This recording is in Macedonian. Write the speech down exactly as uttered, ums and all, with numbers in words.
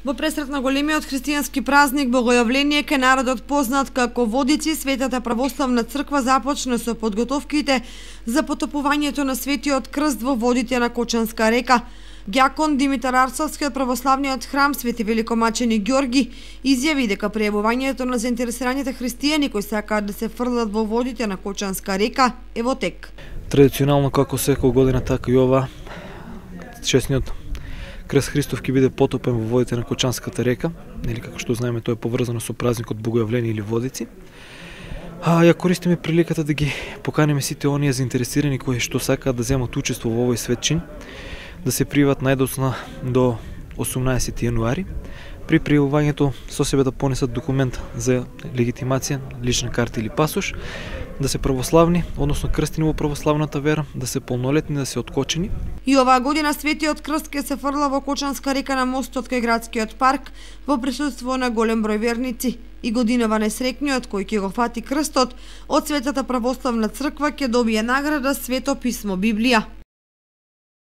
Во пресрет на големиот христијански празник Богојавление ке народот познат како Водици, Светата православна црква започна со подготовките за потопувањето на Светиот крст во водите на Кочанска река. Ѓакон Димитар Арцовски од православниот храм Свети Великомачени Ѓорги изјави дека пријавувањето на заинтересираните христијани кои сакаат да се фрлат во водите на Кочанска река е во тек. Традиционално како секоја година, така и ова, честниот Крст Христов ќе биде потопен во водите на Кочанската река, или како што знаеме, тоа е поврзано со празникот Богојавление или Водици. А ја користиме приликата да ги поканиме сите оние заинтересирани кои што сакаат да земат учество во овој светчин, да се пријават најдоцна до осумнаесети јануари. При пријавувањето со себе да понесат документ за легитимација, лична карта или пасош, да се православни, односно крстени во православната вера, да се полнолетни, да се откочени. И оваа година Светиот крст ќе се фрла во Кочанска река на мостот кај градскиот парк во присуство на голем број верници. И годинава несрекниот кој ќе го фати крстот од Светата православна црква ќе добие награда Свето писмо Библија.